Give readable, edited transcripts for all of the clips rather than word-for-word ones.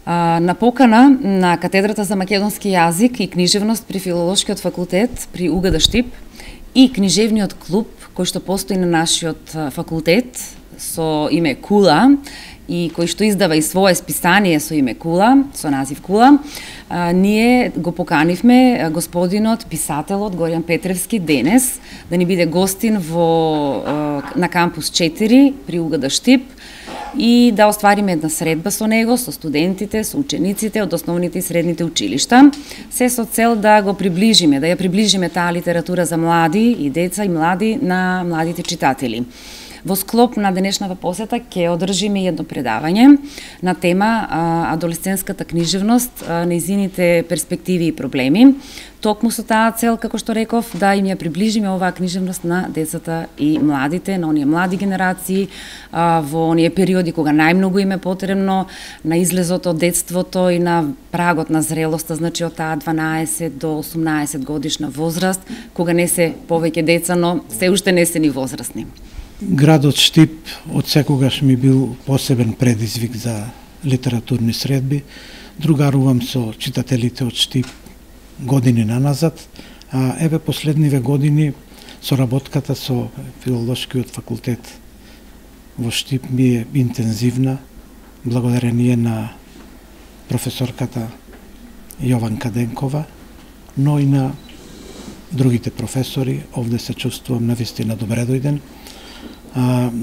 На покана на катедрата за македонски јазик и книжевност при Филолошкиот факултет при УГД Штип и книжевниот клуб кој што постои на нашиот факултет со име Кула и кој што издава и свое списание со име Кула, со назив Кула, ние го поканивме господинот, писателот Горијан Петревски денес да ни биде гостин на кампус 4 при УГД Штип и да оствариме една средба со него, со студентите, со учениците од основните и средните училишта, се со цел да го приближиме, да ја приближиме таа литература за млади и деца и млади на младите читатели. Во склоп на денешната посета ќе одржиме едно предавање на тема адолесцентската книжевност, нејзините перспективи и проблеми. Токму со таа цел, како што реков, да им ја приближиме оваа книжевност на децата и младите, на оние млади генерации, во оние периоди кога најмногу им е потребно, на излезот од детството и на прагот на зрелоста, значи од таа 12 до 18 годишна возраст, кога не се повеќе деца, но се уште не се ни возрастни. Градот Штип од секогаш ми бил посебен предизвик за литературни средби. Другарувам со читателите од Штип години наназад, а еве последниве години соработката со Филолошкиот факултет во Штип ми е интензивна, благодарение на професорката Јованка Денкова, но и на другите професори. Овде се чувствувам навистина добре дојден,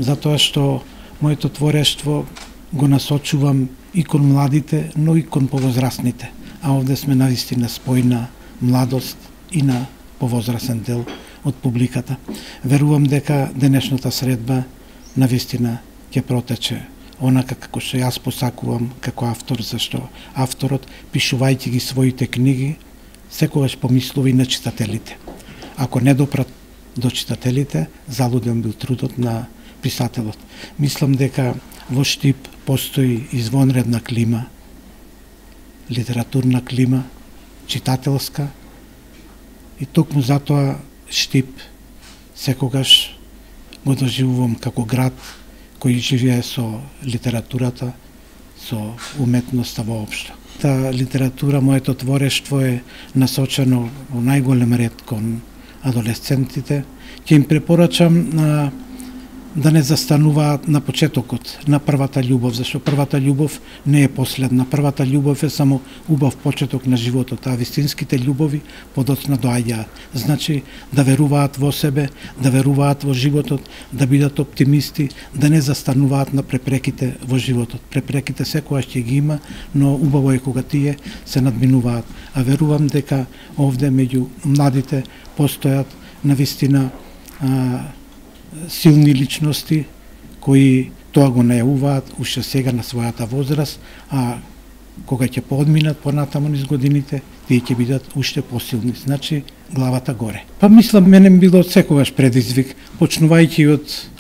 затоа што моето творештво го насочувам и кон младите, но и кон повозрастните. А овде сме навистина спојна младост и на повозрасен дел од публиката. Верувам дека денешната средба навистина ќе протече онака како што јас посакувам како автор, зашто авторот, пишувајќи ги своите книги, секогаш помислува и на читателите. Ако не допрат до читателите, залуден бил трудот на писателот. Мислам дека во Штип постои извонредна клима, литературна клима, читателска, и токму затоа Штип секогаш го доживувам како град кој живее со литературата, со уметноста воопшто. Та литература, моето творештво е насочено во најголем ред кон адолесцентите. Ќе им препорачам да не застануваат на почетокот, на првата љубов, зашто првата љубов не е последна. Првата љубов е само убав почеток на животот, а вистинските љубови подоцна доаѓаат. Значи да веруваат во себе, да веруваат во животот, да бидат оптимисти, да не застануваат на препреките во животот. Препреките секогаш ќе ги има, но убаво е кога тие се надминуваат. А верувам дека овде меѓу младите постојат навистина силни личности кои тоа го најавуваат уште сега на својата возраст, а кога ќе поодминат понатаму низ годините, тие ќе бидат уште посилни. Значи, главата горе. Па мислам, мене било секогаш предизвик, почнувајќи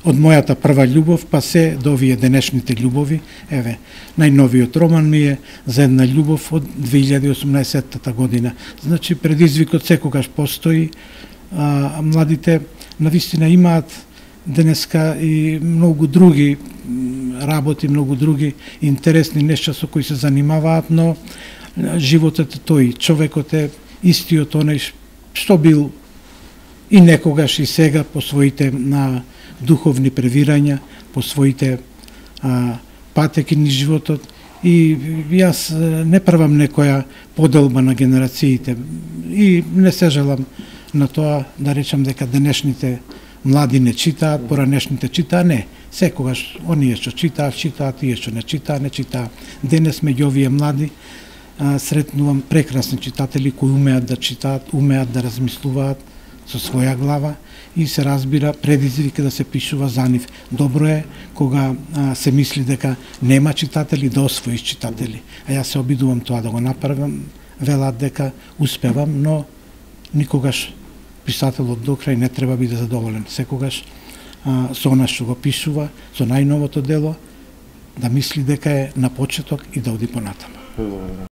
од мојата прва љубов, па се до овие денешните љубови. Еве, најновиот роман ми е за една љубов од 2018 година. Значи, предизвикот секогаш постои, младите навистина имаат денеска и многу други работи, многу други интересни нешта со кои се занимаваат, но животот е тој, човекот е истиот оној што бил и некогаш и сега по своите духовни превирања, по своите патеки низ животот. И јас не правам некоја поделба на генерациите и не се желам на тоа да речам дека денешните млади не читаат, поранешните читаат, не. Секогаш оние што читаат, тие што не читаат. Денес меѓу овие млади сретнувам прекрасни читатели кои умеат да читаат, умеат да размислуваат со своја глава и се разбира предизвик да се пишува за нив. Добро е кога се мисли дека нема читатели, да освоиш читатели. А јас се обидувам тоа да го направам, велат дека успевам, но никогаш писателот до крај не треба биде задоволен. Секогаш со она што го пишува, со најновото дело, да мисли дека е на почеток и да оди понатаму.